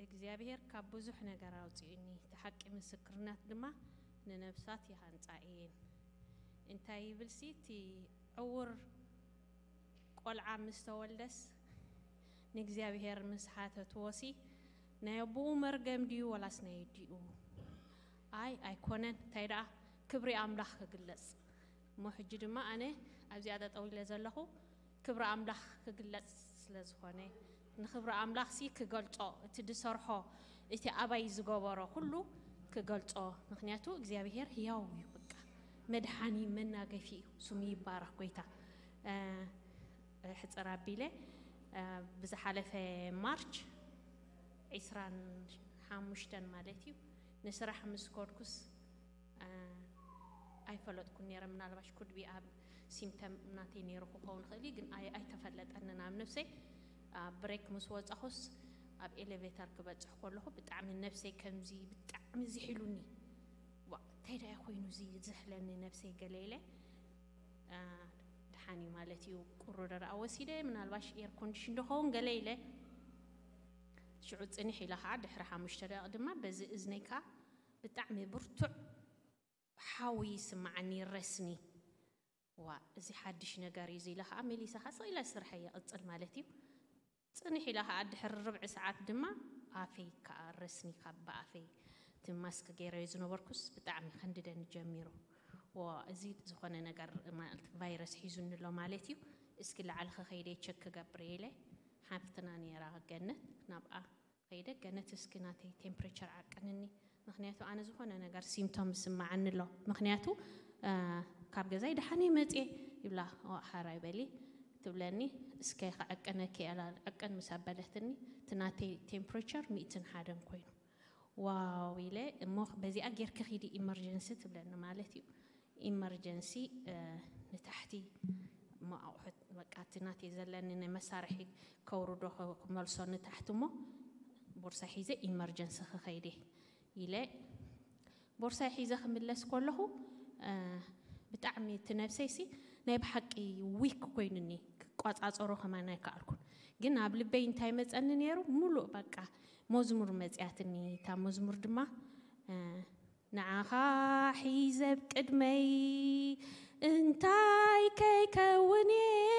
እግዚኣብሔር ካብ ብዙሕ ነገር ኣውፅኡኒ፣ እቲ ሓቂ ምስክርናት ድማ ንነብሳት ይሃንፃ እየን። እንታይ ይብልሲ፣ እቲ ዕውር ቆልዓ ምስ ተወልደስ ንእግዚኣብሔር ምስ ሓተትዎሲ፣ ናይ ኣቦኡ መርገም ድዩ ወላስ ናይ ኣዲኡ? ኣይ ኣይኮነን። እንታይ ደኣ፣ ክብሪ ኣምላኽ ክግለጽ እሞ። ሕጂ ድማ ኣነ ኣብዚኣ ጠጠው ኢለ ዘለኹ ክብሪ ኣምላኽ ክግለጽ ስለ ዝኾነ፣ ንክብሪ ኣምላኽሲ ክገልጾ፣ እቲ ዝሰርሖ፣ እቲ ኣባይ ዝገበሮ ኩሉ ክገልጾ። ምክንያቱ እግዚኣብሔር ህያው እዩ። በቃ መድሓኒ መናገፊ እዩ። ስሙ ይባረኽ ጎይታ። ሕፅር ኣቢለ፣ ብዝሓለፈ ማርች ዒስራን ሓሙሽተን ማለት እዩ፣ ንስራሕ ምስ ከድኩስ ኣይፈለጥኩን ነይረ። ምናልባሽ ኩድቢ ኣብ ሲምተም ናተይ ነይሩ ክኸውን ይኽእል እዩ፣ ግን ኣይተፈለጠንን ኣብ ነብሰይ። ብሬክ ምስ ወፃኹስ ኣብ ኤሌቬተር ክበፅሕ ከለኹ ብጣዕሚ ነብሰይ ከምዚ ብጣዕሚ ዝሒሉኒ። ዋ እንታይ ዳኣ ኮይኑ እዚ ዝሕለኒ ነብሰይ ገለ ኢለ። ድሓን እዩ ማለት እዩ። ቁሩረ ደኣ ወሲደ፣ ምናልባሽ ኤር ኮንዲሽን ዶ ኸውን ገለ ኢለ። ሽዑ ፅንሕ ኢለ ከዓ ድሕሪ ሓሙሽተ ደቂቕ ድማ በዚ እዝነይ ከዓ ብጣዕሚ ብርቱዕ ሓዊ ይስማዓኒ፣ ረስኒ። ዋ እዚ ሓድሽ ነገር እዩ፣ እዚ ኢለ ከዓ መሊሰ ከዓ ስቕ ኢለ ስርሐይ ይቕፅል ማለት እዩ። ፅንሕ ኢለ ከዓ ድሕሪ ርብዒ ሰዓት ድማ ኣፈይ ከዓ ረስኒ ካብ ብኣፈይ እቲ ማስክ ገይረዮ ዝነበርኩስ ብጣዕሚ ከንድደኒ ጀሚሩ። ዋ እዚ ዝኾነ ነገር ማለት ቫይረስ ሒዙኒ ኣሎ ማለት እዩ። እስኪ ላዕሊ ከኸይደ ቸክ ክገብር ኢለ ሓፍትና ነይራ ገነት ናብኣ ከይደ፣ ገነት እስኪ ናተይ ቴምፕሬቸር ዓቅንኒ፣ ምክንያቱ ኣነ ዝኾነ ነገር ሲምቶም ይስማዓኒ ኣሎ። ምክንያቱ ካብ ገዛይ ደሓን እየ መፅየ ይብላ። ሓራይ በሊ ትብለኒ። እስከ ክዕቅነኪ እያ፣ ዕቅን ምስ ኣበለትኒ እቲ ናተይ ቴምፕሬቸር ሚእትን ሓደን ኮይኑ። ዋው ኢለ፣ እሞ በዚኣ ጌርኪ ኺዲ ኢመርጀንሲ ትብለኒ ማለት እዩ። ኢመርጀንሲ ንታሕቲ እሞ ኣቑሑት በቃ እቲ ናተይ ዘለኒ ናይ መሳርሒ ከውርዶ ክመልሶ ንታሕቲ እሞ ቦርሳ ሒዘ ኢመርጀንሲ ክኸይደ ኢለ ቦርሳይ ሒዘ ክምለስ ከለኹ ብጣዕሚ እቲ ነብሰይሲ ናይ ብሓቂ ዊክ ኮይኑኒ፣ ክቋፃፀሮ ከማን ኣይከኣልኩን። ግን ኣብ ልበይ እንታይ መፀኒ ነይሩ፣ ሙሉእ በቃ መዝሙር መፅያትኒ። እታ መዝሙር ድማ ንዓኻ ሒዘ ኣብ ቅድመይ እንታይ ከይከውን እየ፣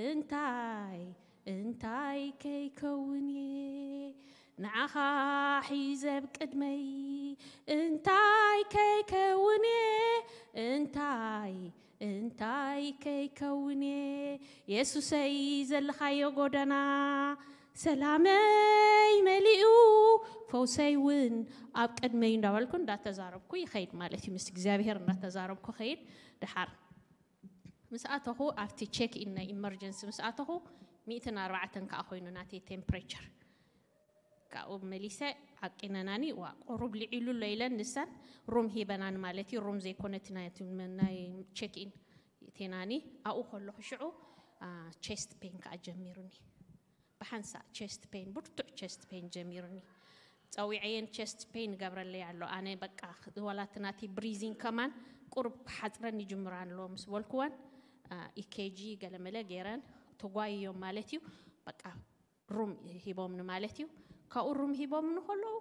እንታይ እንታይ ከይከውን እየ፣ ንዓኻ ሒዘ ኣብ ቅድመይ እንታይ ከይከውን እየ፣ እንታይ እንታይ ከይከውን እየ። የሱሰይ ዘለኻዮ ጎደና ሰላመይ መሊኡ፣ ፈውሰይ እውን ኣብ ቅድመይ እንዳበልኩ እንዳተዛረብኩ ይኸይድ ማለት እዩ። ምስ እግዚኣብሔር እንዳተዛረብኩ ኸይድ። ድሓር ምስ ኣተኹ ኣብቲ ቼክ ኢን ናይ ኢመርጀንሲ ምስ ኣተኹ ሚእትን ኣርባዕተን ከዓ ኮይኑ ናተይ ቴምፕሬቸር። ካብኡ መሊሰ ዓቂነናኒ። ዋ ቁሩብ ልዒሉ ኣሎ ኢለን ንሰን ሩም ሂበናን ማለት እዩ። ሩም ዘይኮነ እቲ ናይ ቼክ ኢን ቴናኒ ኣብኡ ከለኹ ሽዑ ቼስት ፔን ከዓ ጀሚሩኒ። ብሓንሳእ ቼስት ፔን፣ ብርቱዕ ቼስት ፔን ጀሚሩኒ። ፀዊዐየን ቼስት ፔን ገብረለይ ኣሎ። ኣነ በቃ ወላ እቲ ናተይ ብሪዚንግ ከማን ቁሩብ ክሓፅረኒ ይጅምር ኣሎ ምስ በልኩወን ኢኬጂ ገለመለ ገይረን ተጓይዮም ማለት እዩ። በቃ ሩም ሂቦምኒ ማለት እዩ። ካብኡ ሩም ሂቦምኒ ከለዉ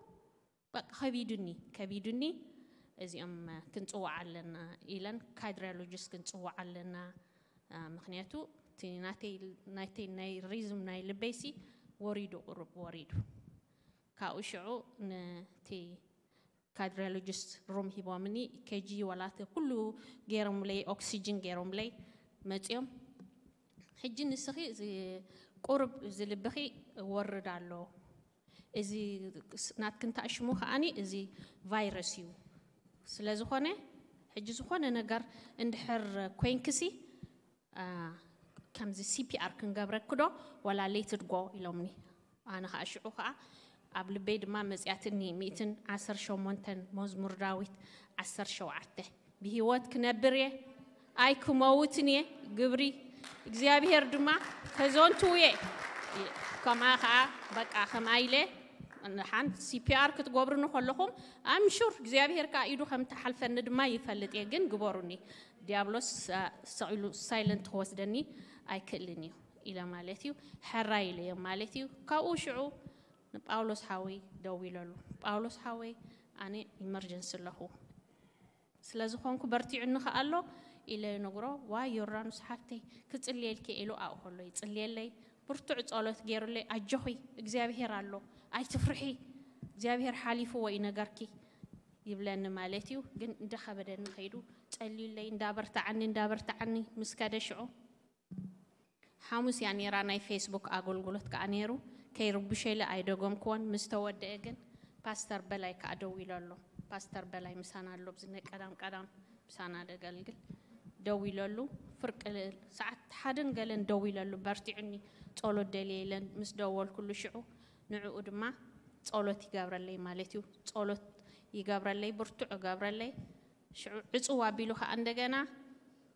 በቃ ከቢዱኒ ከቢዱኒ እዚኦም ክንፅዋዕ ኣለና ኢለን ካድሪዮሎጂስት ክንፅዋዕ ኣለና። ምክንያቱ እቲ ናተይ ናይ ሪዝም ናይ ልበይሲ ወሪዱ ቁሩብ ወሪዱ። ካብኡ ሽዑ ነቲ ካድሪዮሎጂስት ሩም ሂቦምኒ፣ ኢኬጂ ዋላ እቲ ኩሉ ገይሮምለይ፣ ኦክሲጅን ገይሮምለይ መፅዮም። ሕጂ ንስኺ እዚ ቁሩብ እዚ ልብኺ ወርድ ኣሎ፣ እዚ ናትክን ታሽሙ ከዓኒ እዚ ቫይረስ እዩ። ስለ ዝኾነ ሕጂ ዝኾነ ነገር እንድሕር ኮይንክሲ ከምዚ ሲፒኣር ክንገብረኪ ዶ ዋላ ሌትድ ጎ ኢሎምኒ። ኣነ ከዓ ሽዑ ከዓ ኣብ ልበይ ድማ መፅያትኒ ሚእትን ዓሰርተ ሸሞንተን መዝሙር ዳዊት ዓሰርተ ሸውዓተ ብህይወት ክነብር እየ ኣይክመውትን እየ፣ ግብሪ እግዚኣብሔር ድማ ከዘንትው እየ። ከምኣ ከዓ በቃ ከምኣ ኢለ ሓንቲ ሲፒኣር ክትገብሩኒ ከለኹም ኣምሹር እግዚኣብሔር ከዓ ኢዱ ከም ትሓልፈኒ ድማ ይፈልጥ እየ። ግን ግበሩኒ፣ ዲያብሎስ ሰቒሉ ሳይለንት ክወስደኒ ኣይክእልን እዩ። ኢለ ማለት እዩ። ሕራይ ኢለዮም ማለት እዩ። ካብኡ ሽዑ ንጳውሎስ ሓወይ ደዊለሉ። ጳውሎስ ሓወይ፣ ኣነ ኢመርጀንሲ ኣለኹ፣ ስለ ዝኾንኩ በርቲዑኒ ከኣ ኣሎ ኢለ ይነግሮ። ዋይ ዮርዳኖስ ሓፍተይ፣ ክጽልየልኪ ኢሉ ኣብኡ ከሎ ይጽልየለይ። ብርቱዕ ጸሎት ገይሩለይ፣ ኣጆኺ እግዚኣብሄር ኣሎ፣ ኣይትፍርሒ፣ እግዚኣብሄር ሓሊፍዎ እዩ ነገርኪ ይብለኒ ማለት እዩ። ግን እንዳኸበደኒ ከይዱ ጸልዩለይ፣ እንዳበርትዓኒ እንዳበርትዓኒ ምስ ከደ ሽዑ ሓሙስ እያ ነይራ ናይ ፌስቡክ ኣገልግሎት ከዓ ነይሩ። ከይርብሸለ ኣይደገምክዎን። ምስ ተወደአ ግን ፓስተር በላይ ከዓ ደዊለ ኣሎ። ፓስተር በላይ ምሳና ኣሎ፣ ብዚ ናይ ቀዳም ቀዳም ምሳና ደገልግል። ደዊለሉ፣ ፍርቂ ሰዓት ሓደን ገለን ደዊለሉ፣ በርቲዑኒ፣ ጸሎት ደልየ ኢለን ምስ ደወልኩሉ ሽዑ ንዕኡ ድማ ጸሎት ይገብረለይ ማለት እዩ። ጸሎት ይገብረለይ፣ ብርቱዕ ይገብረለይ። ሽዑ ዕጽው ኣቢሉ ከዓ እንደገና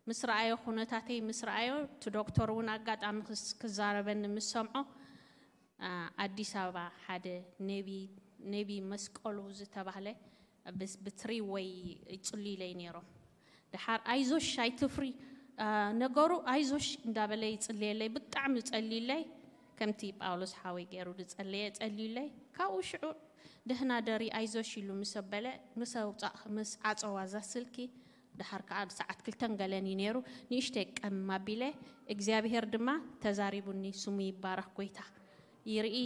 ምስ ረኣዮ፣ ኩነታተይ ምስ ረኣዮ፣ እቲ ዶክተር እውን ኣጋጣሚ ክስ- ክዛረበኒ ምስ ሰምዖ፣ ኣ፣ ኣዲስ ኣበባ ሓደ ነቢ ነቢ መስቀሉ ዝተባህለ ብስ- ብትሪ ወይ ይጽልዩለይ ነይሮም። ደሓር ኣይዞሽ ኣይትፍሪ፣ ኣ፣ ነገሩ ኣይዞሽ እንዳበለ ይጽልየለይ፣ ብጣዕሚ ጸልዩለይ። ከምቲ ጳውሎስ ሓወይ ገይሩ ዝጸለየ ጸልዩለይ። ካብኡ ሽዑ ደህና ደሪ ኣይዞሽ ኢሉ ምስ ኣበለ፣ ምስ ኣውጻእ ምስ ዓጸዋ እዛ ስልኪ፣ ደሓር ከዓ ሰዓት ክልተን ገለን እዩ ነይሩ። ንእሽተይ ቀም ኣቢለ እግዚኣብሄር ድማ ተዛሪቡኒ፣ ስሙ ይባረኽ ጎይታ። ይርኢ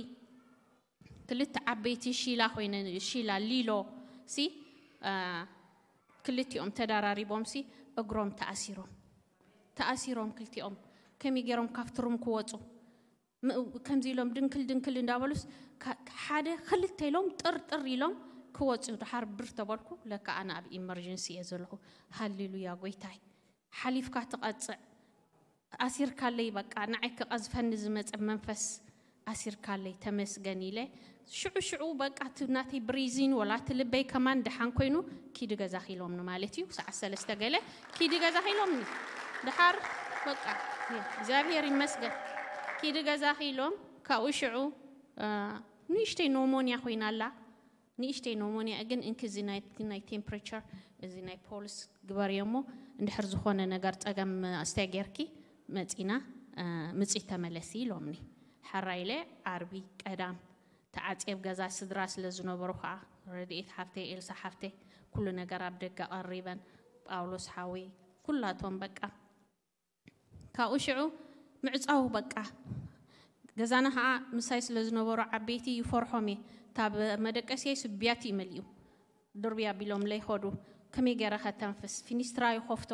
ክልተ ዓበይቲ ሺላ ኮይነ፣ ሺላ ሊሎ ሲ ኣ፣ ክልቲኦም ተዳራሪቦም ሲ እግሮም ተኣሲሮም ተኣሲሮም ክልቲኦም ከመይ ገይሮም ካብቲ ሩም ክወፁ ም- ከምዚ ኢሎም ድንክል ድንክል እንዳበሉስ ካ- ሓደ ክልተ ኢሎም ጥርጥር ኢሎም ክወፁ። ድሓር ብር ተበልኩ፣ ለካ ኣነ ኣብ ኢመርጀንሲ እየ ዘለኹ። ሃሌሉያ ጎይታይ፣ ሓሊፍካ ትቐፅዕ፣ ኣሲርካለይ፣ በቃ ንዓይ ክቐዝፈኒ ዝመፀ መንፈስ ኣሲርካለይ፣ ተመስገን ኢለ። ሽዑ ሽዑ በቃ እቲ ናተይ ብሪዚን ወላ እቲ ልበይ ከማን ደሓን ኮይኑ፣ ኪዲ ገዛኺ ኢሎምኒ ማለት እዩ። ሰዓት ሰለስተ ገለ ኪዲ ገዛኺ ኢሎምኒ። ድሓር በቃ እግዚኣብሔር ይመስገን፣ ኪዲ ገዛኺ ኢሎም። ካብኡ ሽዑ እ፣ ንእሽተይ ኖሞንያ ኮይና ኣላ። ንእሽተይ ኖሞንያ ግን እንኪ እዚ ናይ ናይ ቴምፕሬቸር፣ እዚ ናይ ፖልስ ግበርዮ እሞ፣ እንድሕር ዝኾነ ነገር ጸገም ኣስተይ ጌርኪ መጺና፣ እ፣ ምጺ ተመለሲ ኢሎምኒ። ሕራይ ኢለ ዓርቢ ቀዳም ተዓጽየ ኣብ ገዛ ስድራ ስለ ዝነበሩ ኸኣ፣ ረድኤት ሓፍተይ፣ ኤልሳ ሓፍተይ፣ ኩሉ ነገር ኣብ ደገ ቀሪበን፣ ጳውሎስ ሓወይ፣ ኩላቶም በቃ ካብኡ ሽዑ ምዕጻው በቃ። ገዛና ኸዓ ምሳይ ስለ ዝነበሩ ዓበይቲ ይፈርሖም እየ። ታብ መደቀስየይ ስቢያት እዩ መሊኡ። ድርብያ ቢሎም ለይኸዱ ከመይ ገይረ ከተንፍስ? ፊኒስትራ ይኸፍቶ።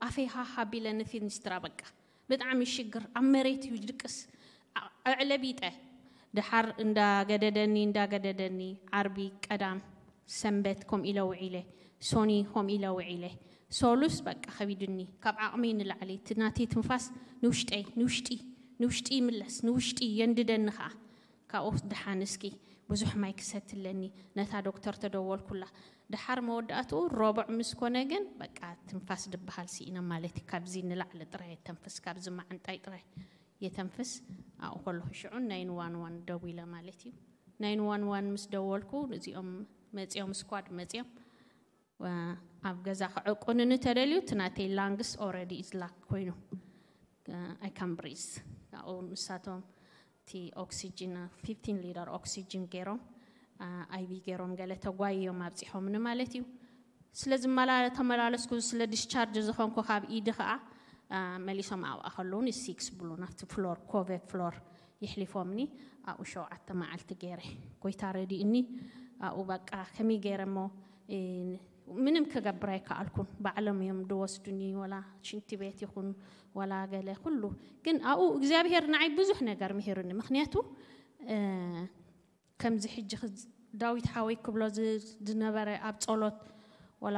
ኣፈይ ሃህ ኣቢለ ንፊኒስትራ በቃ። ብጣዕሚ ሽግር። ኣብ መሬት እዩ ድቅስ። ኣ- ኣዕለቢጠ። ድሓር እንዳገደደኒ፣ እንዳገደደኒ፣ ዓርቢ፣ ቀዳም፣ ሰንበት፣ ከምኡ ኢለ ውዒለ። ሶኒ፣ ከምኡ ኢለ ውዒለ። ሶሉስ፣ በቃ፣ ከቢድኒ። ካብ ዓቕመይ ንላዕሊ። እቲ ናተይ ትንፋስ ንውሽጠይ፣ ንውሽጢ፣ ንውሽጢ ይምለስ፣ ንውሽጢ የንድደኒ ኸዓ። ካብኡ ደሓን እስኪ ብዙሕ ማይ ክሰቲ ኣለኒ። ነታ ዶክተር ተደወልኩላ። ድሓር መወዳእትኡ ረቡዕ ምስ ኮነ ግን፣ በቃ፣ ትንፋስ ድበሃል ስኢነ ማለት እዩ። ካብዚ ንላዕሊ ጥራይ የተንፍስ፣ ካብዚ መዓንጣይ ጥራይ የተንፍስ። ኣብኡ ከለኹ ሽዑ ናይን ዋን ዋን ደዊለ ማለት እዩ። ናይን ዋን ዋን ምስ ደወልኩ፣ እዚኦም መጺኦም፣ ስኳድ መጺኦም፣ ወ-፣ ኣብ ገዛ ክዕቁንኒ ተደልዩ፣ እቲ ናተይ ላንግስ ኦልሬዲ ኢዝ ላክ ኮይኑ፣ ኣይ ካን ብሪዝ። ካብኡ ንሳቶም እቲ ኦክሲጅን፣ ፊፍቲን ሊተር ኦክሲጅን ገይሮም፣ ኣ፣ ኣይቪ ገይሮም ገለ ተጓይዮም ኣብጺሖምኒ ማለት እዩ። ስለ ዝመላ-፣ ተመላለስኩ፣ ስለ ዲስቻርጅ ዝኾንኩ ካብ ኢዲ ኸዓ፣ ኣ፣ መሊሶም ኣብኣ ከለዉ ንሲክስ ብሉ ናብቲ ፍሎር፣ ኮቨ ፍሎር የሕሊፎምኒ። ኣብኡ ሸውዓተ መዓልቲ ገይረ። ጎይታ ረዲእኒ። ኣብኡ በቃ ከመይ ገይረ እሞ፣ እ፣ ምንም ክገብር ኣይከኣልኩን። ባዕሎም እዮም ድወስዱኒ፣ ወላ ሽንቲ ቤት ይኹን፣ ወላ ገለ ኩሉ። ግን ኣብኡ እግዚኣብሔር ንዓይ ብዙሕ ነገር ምሂሩኒ። ምኽንያቱ፣ እ፣ ከምዚ ሕጂ ክዝ-፣ ዳዊት ሓወይ ክብሎ ዝ-፣ ዝነበረ ኣብ ጸሎት፣ ወላ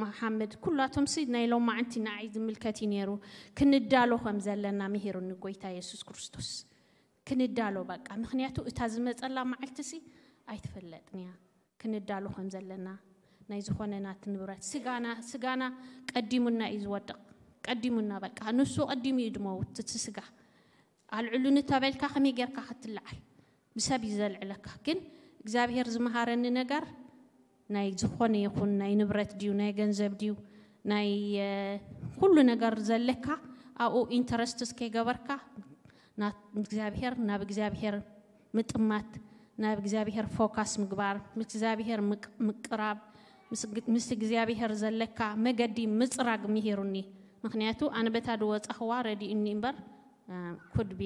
መሓመድ፣ ኩላቶምሲ ናይ ሎማዓንቲ ንዓይ ዝምልከት እዩ ነይሩ። ክንዳሎ ከም ዘለና ምሂሩኒ ጎይታ የሱስ ክርስቶስ። ክንዳሎ በቃ። ምኽንያቱ እታ ዝመጸላ መዓልትሲ ኣይትፍለጥን እያ። ክንዳሎ ከም ዘለና ናይ ዝኾነ ናቲ ንብረት ስጋና፣ ስጋና ቀዲሙና እዩ ዝወድቕ። ቀዲሙና በቃ። ንሱ ቀዲሙ እዩ ድመውት እቲ ስጋ። ኣልዕሉኒ ተበልካ ከመይ ጌርካ ክትለዓል? ብሰብ እዩ ዘልዕለካ። ግን እግዚኣብሔር ዝመሃረኒ ነገር ናይ ዝኾነ ይኹን ናይ ንብረት ድዩ፣ ናይ ገንዘብ ድዩ፣ ናይ፣ እ፣ ኩሉ ነገር ዘለካ ኣብኡ ኢንተረስትስ ከይገበርካ እግዚኣብሔር ናብ እግዚኣብሔር ምጥማት፣ ናብ እግዚኣብሔር ፎካስ ምግባር፣ ምስ እግዚኣብሔር ምቅራብ፣ ምስ እግዚኣብሔር ዘለካ መገዲ ምፅራግ ምሂሩኒ። ምክንያቱ ኣነ በታ ድወፃኽዋ ረዲኡኒ እምበር ኩድቢ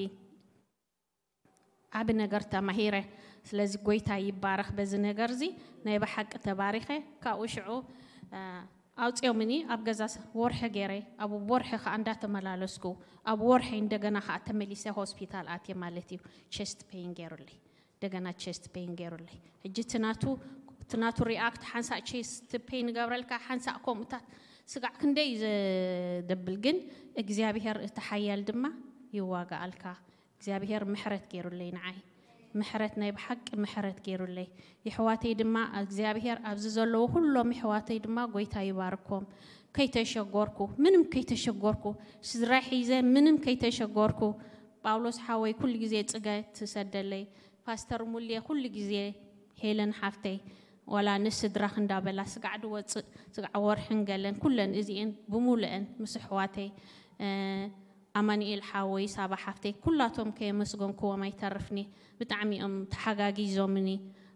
ዓቢ ነገር ተማሂረ። ስለዚ ጎይታ ይባረኽ። በዚ ነገር እዚ ናይ ብሓቂ ተባሪኸ። ካብኡ ሽዑ ኣውፅኦምኒ ኣብ ገዛ ወርሒ ገይረ፣ ኣብ ወርሒ ከዓ እንዳተመላለስኩ፣ ኣብ ወርሒ እንደገና ከዓ ተመሊሰ ሆስፒታል ኣትየ ማለት እዩ። ቸስት ፔን ገይሩለይ፣ እንደገና ቸስት ፔን ገይሩለይ። ሕጂ ትናቱ ትናቱ ሪኣክት ሓንሳእ ቸስት ፔን ገብረልካ፣ ሓንሳእ ከምኡታት ስጋዕ ክንደይ ዘደብል፣ ግን እግዚኣብሔር እቲ ሓያል ድማ ይዋጋኣልካ። እግዚኣብሔር ምሕረት ገይሩለይ ንዓይ። ምሕረት ናይ ብሓቂ ምሕረት ገይሩለይ። የሕዋተይ ድማ እግዚኣብሔር ኣብዚ ዘለዉ ኩሎም የሕዋተይ ድማ ጎይታ ይባርኮም። ከይተሸጎርኩ፣ ምንም ከይተሸጎርኩ፣ ስድራይ ሒዘ ምንም ከይተሸጎርኩ፣ ጳውሎስ ሓወይ ኩሉ ግዜ ጽገ ትሰደለይ፣ ፓስተር ሙልየ ኩሉ ግዜ፣ ሄለን ሓፍተይ ዋላ ንስድራኽ እንዳበላ ስጋዕ ድወፅእ ስጋዕ ወርሕን ገለን ኩለን እዚኤን ብሙሉአን ምስ ኣሕዋተይ ኣማኒኤል ሓወይ ሳባ ሓፍተይ ኩላቶም ከየመስገንክዎም ኣይተርፍኒ። ብጣዕሚ እዮም ተሓጋጊዞምኒ።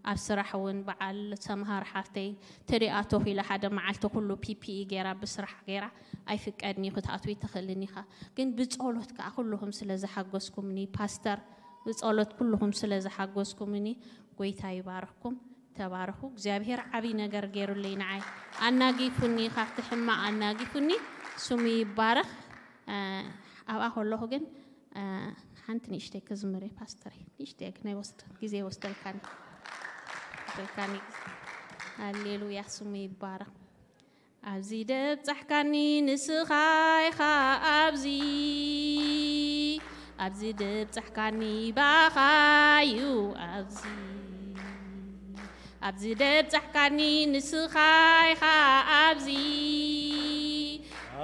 ኣብ ስራሕ እውን በዓል ሰምሃር ሓፍተይ ተደኣ ተኺላ ሓደ መዓልቲ ኩሉ ፒፒኢ ገይራ ብስራሕ ገይራ ኣይፍቀድን እዩ ክትኣትዊ ትኽእልን ኢኻ፣ ግን ብጸሎት ከዓ ኩልኹም ስለ ዝሓገዝኩምኒ ፓስተር ብጸሎት ኩልኹም ስለ ዝሓገዝኩምኒ ጎይታ ይባርኽኩም። ተባረኹ። እግዚኣብሔር ዓብዪ ነገር ገይሩለይ ንዓይ ኣናጊፉኒ፣ ካብቲ ሕማቕ ኣናጊፉኒ። ስሙ ይባረኽ። ኣብኣ ከለኹ ግን ሓንቲ ንእሽተይ ክዝምር እየ ፓስተር፣ ንእሽተይ ግዜ ይወስደልካኒ ይወስደልካኒ። ሃሌሉያ ስሙ ይባረኽ። ኣብዚ ደብጻሕካኒ ንስኻ ኢኻ ኣብዚ፣ ኣብዚ ደብጻሕካኒ ባኻዩ ኣብዚ፣ ኣብዚ ደብጻሕካኒ ንስኻ ኢኻ ኣብዚ፣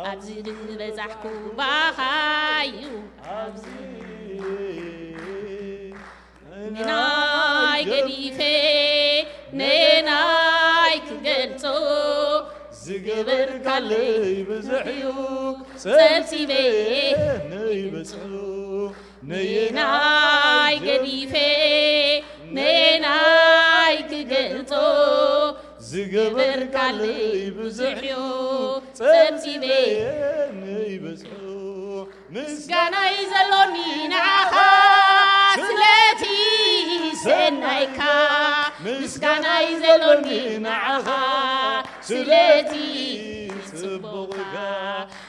ኣብዚ ዝበጻሕኩ ባኻዩ ኣብዚ። ንናይ ገዲፈ ነየናይ ክገልጾ፣ ዝገበርካለይ ብዙሕ እዩ ጸብጺበ ነይበጽሑ። ነየናይ ገዲፈ ነየናይ ክገልጾ፣ ዝገበርካለይ ብዙሕ እዩ ጸብጺበ ነይበጽሑ። ምስጋናይ ዘሎኒ ንዓኻ ስለቲ ሰናይካ፣ ምስጋናይ ዘሎኒ ንዓኻ ስለቲ ጽቡቕካ፣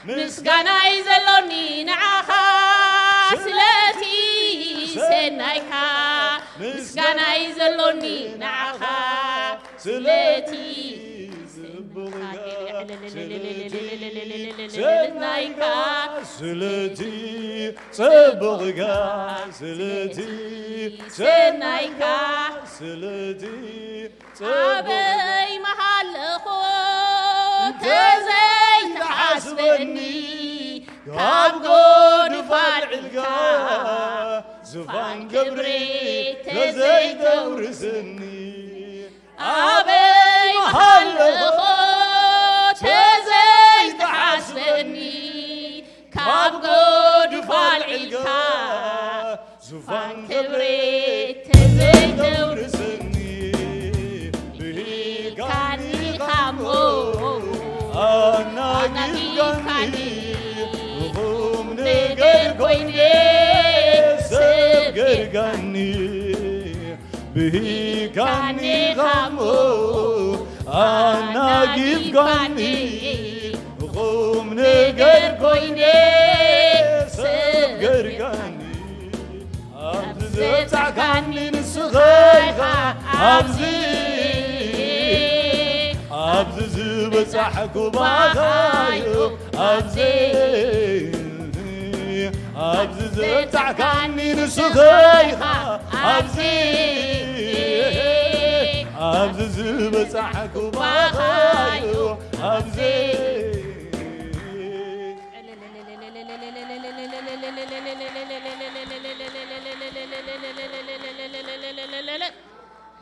ምስጋናይ ዘሎኒ ንዓኻ ስለቲ ሰናይካ፣ ምስጋናይ ዘሎኒ ንዓኻ ስለቲ ጽቡቕካ፣ ስለቲ ሰናይካ፣ ስለቲ ጽቡቕካ፣ ስለቲ ሰናይካ፣ ስለቲ ኣበይ መሃለኹ ተዘይተሓስበኒ፣ ካብ ጎድፋል ዕልካ ዙፋን ክብሪ ተዘይተውርስኒ። ኣበይ መሃለኹ ተዘይተሓስበኒ፣ ካብ ጎድፋል ዕልካ ዙፋን ክብሪ ተዘይተውርስኒ። ብሂልካኒ ኻሞ ኣናጊፍካኒ፣ ቁም ነገር ኮይነ ሰብ ገርጋኒ። ብሂልካኒ ኻሞ ኣናጊፍካኒ፣ ቁም ነገር ኮይነ ሰብ ገርጋኒ። ኣብዚ ዘብጻሕካኒ ንስኻ ኢኻ ኣብዚ፣ ኣብዚ ዝበጻሕኩ ባኻዩ ኣብዚ፣ ኣብዚ ዘብጻሕካኒ ንስኻ ኢኻ ኣብዚ፣ ኣብዚ ዝበጻሕኩ ባኻዩ ኣብዚ።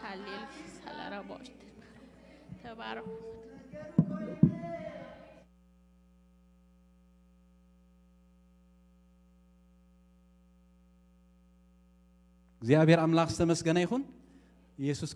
ሃሌሉያ ሳላራቦሽት ተባረኹ። እግዚኣብሔር ኣምላኽ ዝተመስገነ ይኹን። ኢየሱስ